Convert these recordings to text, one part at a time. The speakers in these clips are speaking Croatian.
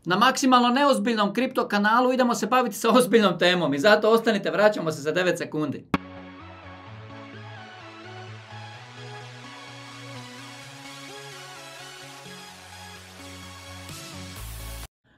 Na maksimalno neozbiljnom kripto kanalu idemo se baviti sa ozbiljnom temom i zato ostanite, vraćamo se za 9 sekundi.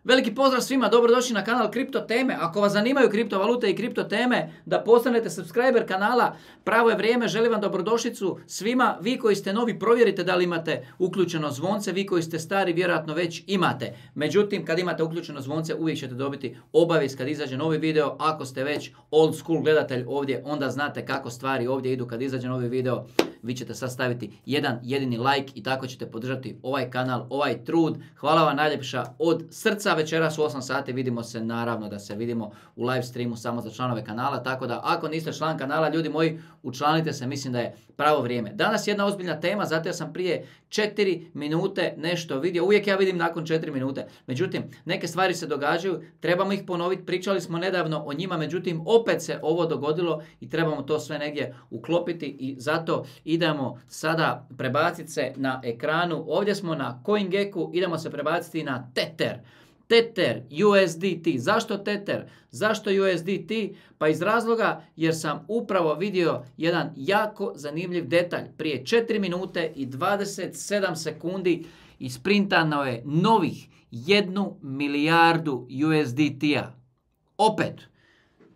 Veliki pozdrav svima, dobrodošli na kanal Kripto teme. Ako vas zanimaju kriptovalute i kripto teme, da postanete subscriber kanala, pravo je vrijeme, želim vam dobrodošlicu svima. Vi koji ste novi, provjerite da li imate uključeno zvonce, vi koji ste stari, vjerojatno već imate. Međutim, kad imate uključeno zvonce, uvijek ćete dobiti obavijest kad izađe novi video. Ako ste već old school gledatelj ovdje, onda znate kako stvari ovdje idu kad izađe novi video. Vi ćete sad staviti jedan jedini like i tako ćete podržati ovaj kanal, ovaj trud. Hvala vam najljepša od srca. Večeras u 8 sati vidimo se, naravno da se vidimo u live streamu samo za članove kanala, tako da ako niste član kanala, ljudi moji, učlanite se, mislim da je pravo vrijeme. Danas jedna ozbiljna tema, zato ja sam prije 4 minute nešto vidio, uvijek ja vidim nakon 4 minute, međutim, neke stvari se događaju, trebamo ih ponoviti, pričali smo nedavno o njima, međutim, opet se ovo dogodilo i trebamo to sve negdje uklopiti i zato idemo sada prebaciti se na ekranu, ovdje smo na CoinGecku, idemo se prebaciti na Tether. Tether, USDT. Zašto Tether? Zašto USDT? Pa iz razloga jer sam upravo vidio jedan jako zanimljiv detalj. Prije 4 minute i 27 sekundi isprintano je novih 1 milijardu USDT-a. Opet,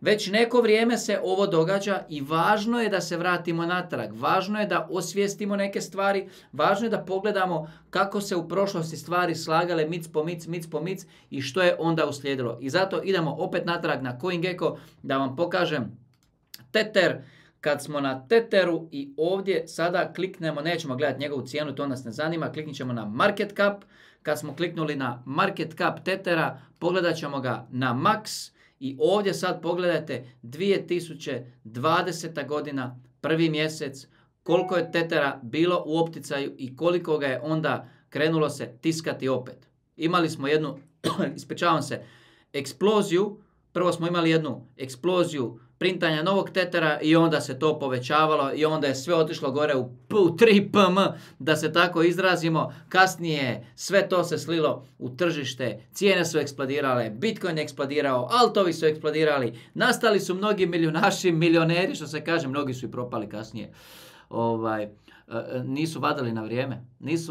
već neko vrijeme se ovo događa i važno je da se vratimo natrag. Važno je da osvijestimo neke stvari. Važno je da pogledamo kako se u prošlosti stvari slagale mic po mic i što je onda uslijedilo. I zato idemo opet natrag na CoinGecko da vam pokažem Tether. Kad smo na Tetheru i ovdje sada kliknemo, nećemo gledati njegovu cijenu, to nas ne zanima, kliknit ćemo na Market Cap. Kad smo kliknuli na Market Cap Tethera, pogledat ćemo ga na Max. I ovdje sad pogledajte 2020. godina, prvi mjesec, koliko je Tethera bilo u opticaju i koliko ga je onda krenulo se tiskati opet. Imali smo jednu, ispričavam se, eksploziju. Prvo smo imali jednu eksploziju printanja novog Tethera i onda se to povećavalo i onda je sve otišlo gore u 3 pm, da se tako izrazimo. Kasnije sve to se slilo u tržište, cijene su eksplodirale, Bitcoin je eksplodirao, altovi su eksplodirali, nastali su mnogi milijunaši, milioneri, što se kaže, mnogi su i propali kasnije. Nisu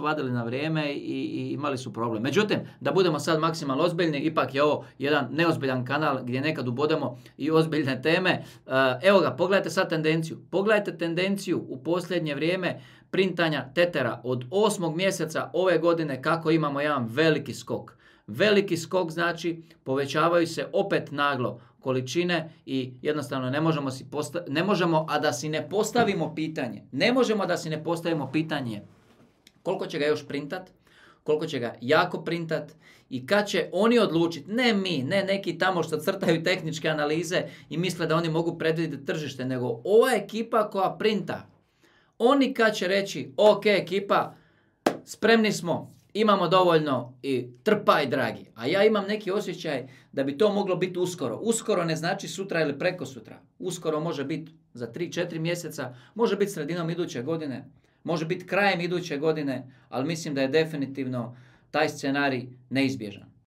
vadili na vrijeme i imali su problem. Međutim, da budemo sad maksimalno ozbiljni, ipak je ovo jedan neozbiljan kanal gdje nekad ubodemo i ozbiljne teme. Evo ga, pogledajte sad tendenciju. Pogledajte tendenciju u posljednje vrijeme printanja Tethera od 8. mjeseca ove godine kako imamo jedan veliki skok. Veliki skok znači povećavaju se opet naglo količine i jednostavno ne možemo a da si ne postavimo pitanje. Ne možemo da si ne postavimo pitanje koliko će ga još printat, koliko će ga jako printat i kad će oni odlučiti, ne mi, ne neki tamo što crtaju tehničke analize i misle da oni mogu predvidjeti tržište, nego ova ekipa koja printa. Oni kad će reći, ok ekipa, spremni smo, imamo dovoljno i trpaj dragi. A ja imam neki osjećaj da bi to moglo biti uskoro. Uskoro ne znači sutra ili prekosutra. Uskoro može biti za 3-4 mjeseca, može biti sredinom iduće godine, može biti krajem iduće godine, ali mislim da je definitivno taj scenarij neizbježan.